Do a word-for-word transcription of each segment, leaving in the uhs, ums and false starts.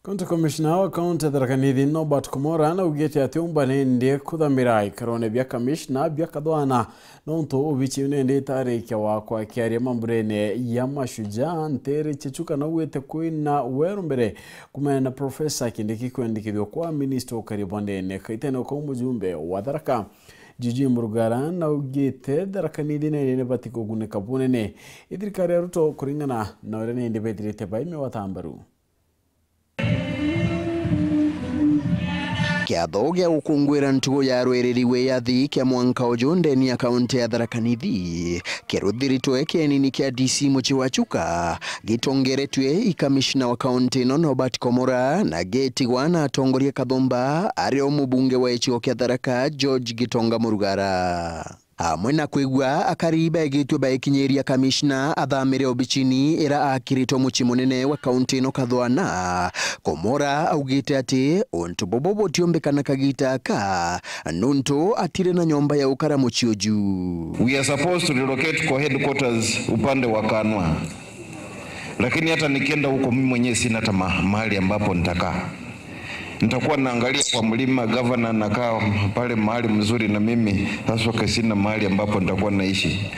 County Commissioner wa County ya Tharaka Nithi, Norbert Komora, naugite ati umba nindi kuthamira ikarone bia kamishna bia Kathwana, nontu obichi iu nindi itarikia wa kwakiaria mamburene ya Mashujaa, Ntere Chechuka naugite kwina weru mbere kumena na Professor Kindiki kwendikithua kwa minister ukari bondene kaitene kwa mujumbe wa Tharaka. Juju Murugara naugite Tharaka Nithi nene nibati kugunika bunene i thirikari ya Ruto kuringana na uria nindi bethirite baime watambaru. Kiatho gia gukunguira ntugo ya rwiriri wiyathi kia mwanka uju ndeni ya kaunti ya Tharaka Nithi kiruthiritwe kienini kia D C mucii wa Chuka, gitongeretue i kamishna wa kaunti ino Norbert Komora na getigwa na atongoria kathumba, ari o mubunge wa gicigo kia Tharaka George Gitonga Murugara. Amwe na kwigua akari begitue baikinyiria kamishna athamire obicini ira akiritwe mucii munene wa kaunti ino Kathwana, Komora augite ati untu bubu butiumbikana kagita aka, nuntu atiri na nyomba ya gukara mucii uju. We are supposed to relocate kwa headquarters upande wa Kanwa. Lakini hata nikienda huko, mimi mwenyewe sina hata ma-, mahali ambapo nitakaa. Nitakuwa naangalia kwa mlima, gavana anakaa pale mahali mzuri, na mimi sasa sina mahali ambapo nitakuwa naishi.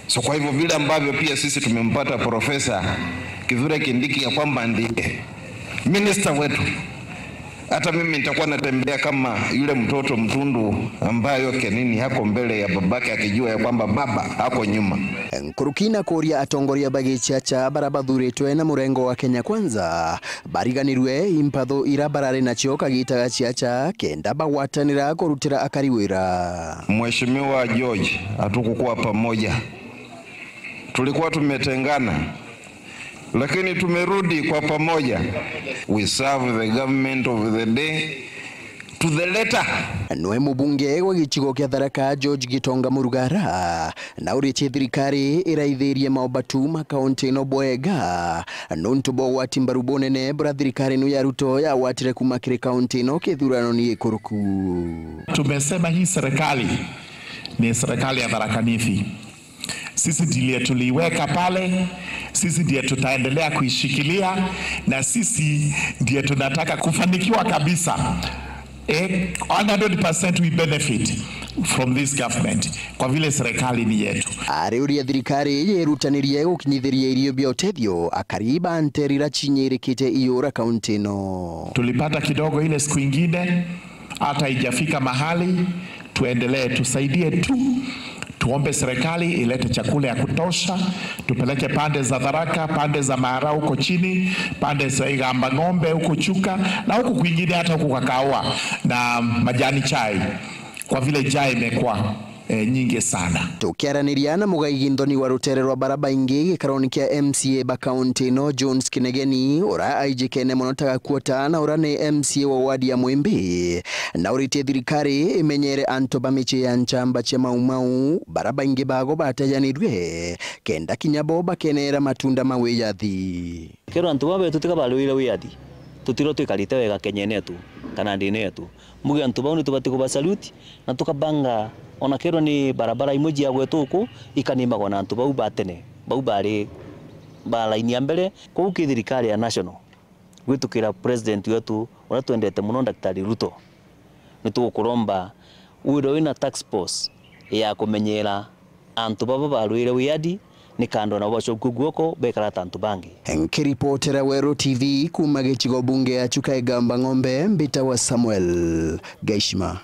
So kwa hivyo, vile ambavyo pia sisi tumempata Profesa Kithure Kindiki ya kwamba ndiye minister wetu, hata mimi nitakuwa natembea kama yule mtoto mtundu ambaye kenini hako mbele ya babake, akijua ya kwamba baba hako nyuma. Nkuruki na kuuria atongoria ba giciaca bara bathuritwe na murengo wa Kenya Kwanza bariganirue impatho ira barari nacio kagita ga ciaca kenda bagwatanira kurutira akari wira. Mheshimiwa George, hatukukuwa pamoja, tulikuwa tumetengana, lakini tumerudi kwa pamoja. We serve the government of the day to the letter. Nwe mubunge wa gicigo kia Tharaka George Gitonga Murugara nauritie thirikari iraithirie maobatu ma kaunti ino bwega nuntu bwa ugwati mbaru bunene bura thirikari ino ya Ruto yagwatire kuma kiri kaunti ino kithuranoni gikuruku. Tumesema hii serikali ni serikali ya Tharaka Nithi. Sisi ndiye tuliiweka pale, sisi ndiye tutaendelea kuishikilia, na sisi ndiye tunataka kufanikiwa kabisa. Eh, one hundred percent we benefit from this government, kwa vile serikali ni yetu. Ariuria thirikari yirutanirie gukinyithiria irio bia utethio akari ba nterira cinyirikite iura kaunti ino. Tulipata kidogo ile siku ingine, hata haijafika mahali, tuendelee, tusaidie tu. Tuombe serikali ilete chakula ya kutosha, tupeleke pande za Tharaka, pande za Maara huko chini, pande za Igamba Ng'ombe huko Chuka, na huku kwingine, hata huku Kakawa na majani chai, kwa vile njaa imekuwa, eh, nyingi sana. Tukiaraniria na mugai Ginthoni wa rutere rwa bara baingi gikaroni kia M C A ba kaunti ino, Jones Kinegeni, ura aijikene mono ta gakuota na ura ni M C A wa wadi ya Mwimbi, na uritie thirikari imenyere antu ba micii ya nchamba cia Mau Mau, bara baingi bago batejanirue, kenda kinya bo bakenera matunda ma wiyathi. Kero antu baba betu tiga barwire wiyathi, tutiro twikarite wega Kenya yetu kana ndini yetu. Mbuge antu bau ni tubati kubasaluti na tukabanga, ona kero ni barabara imwe cia gwetu uku ikanimagwa na antu bau ba tene, bau bari ba laini ya mbere. Kwou ki thirikari ya national, gwitukira president wetu uria twendete muno, Daktari Ruto, ni tugukuromba withirwe wina task force ya kumenyera antu baba barwire wiyathi, ni kando nabo bacokue guoko bekara ta antu bangi. Nkiripotera Weru T V kuma gicigo bunge ya Chuka Igamba Ng'ombe, mbitagwa Samuel Gaishima.